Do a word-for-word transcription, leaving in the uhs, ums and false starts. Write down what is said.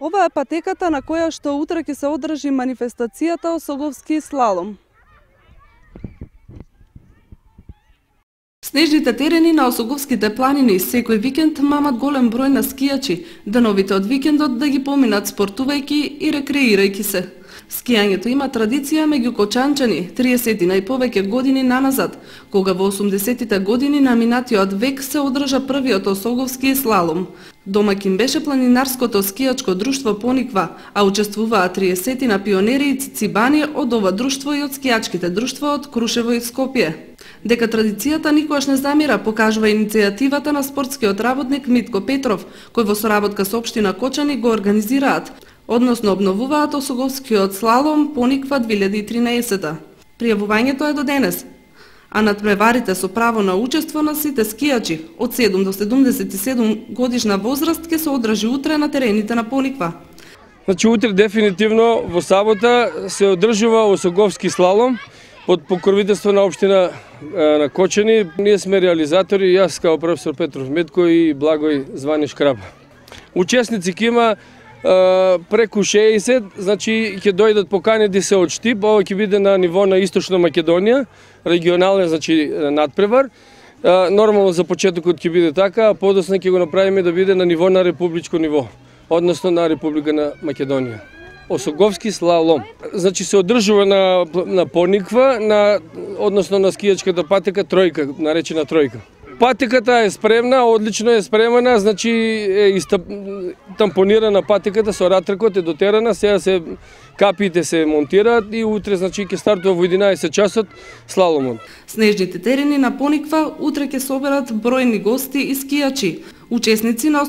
Ова е патеката на која што утре ќе се одржи манифестацијата Осоговски слалом. Снежните терени на Осоговските планини секој викенд мамат голем број на скијачи, деновите од викендот да ги поминат спортувајќи и рекреирајќи се. Скијањето има традиција меѓу кочанчани триесет и повеќе години наназад, кога во осумдесетите години на минатиот век се одржа првиот Осоговски слалом. Домаќин беше планинарското скијачко друштво Пониква, а учествуваа триесет пионери и цицибани од ова друштво и од скијачките друштва од Крушево и Скопје. Дека традицијата никогаш не замира, покажува иницијативата на спортскиот работник Митко Петров, кој во соработка со општина Кочани го организираат, односно обновуваат Осоговскиот слалом Пониква две илјади и тринаесета. Пријавувањето е до денес, а надпреварите со право на учество на сите скијачи од седум до седумдесет и седум годишна возраст ќе се одржи утре на терените на Пониква. Значи утре дефинитивно во сабота се одржува Осоговски слалом под покровителство на општина на Кочани. Ние сме реализатори, јас као професор Петров Метко и Благој Звани Шкраба. Учесници ќе има преку шеесет, значи ќе дојдат поканети се од Штип, ова ќе биде на ниво на Источна Македонија, регионален, значи надпревар. Нормално за почетокот ќе биде така, а подоцна ќе го направиме да биде на ниво на републичко ниво, односно на Република на Македонија. Осоговски слалом. Значи се одржува на, на Пониква, на, односно на скијачката патека тројка, наречена тројка. Патеката е спремна, одлично е спремена, значи е истап, тампонирана патеката со ратракот е дотерана, сега се капиите се монтираат и утре значи ќе стартува во единаесет часот слаломот. Снежните терени на Пониква утре ќе соберат бројни гости и скијачи. Учесници на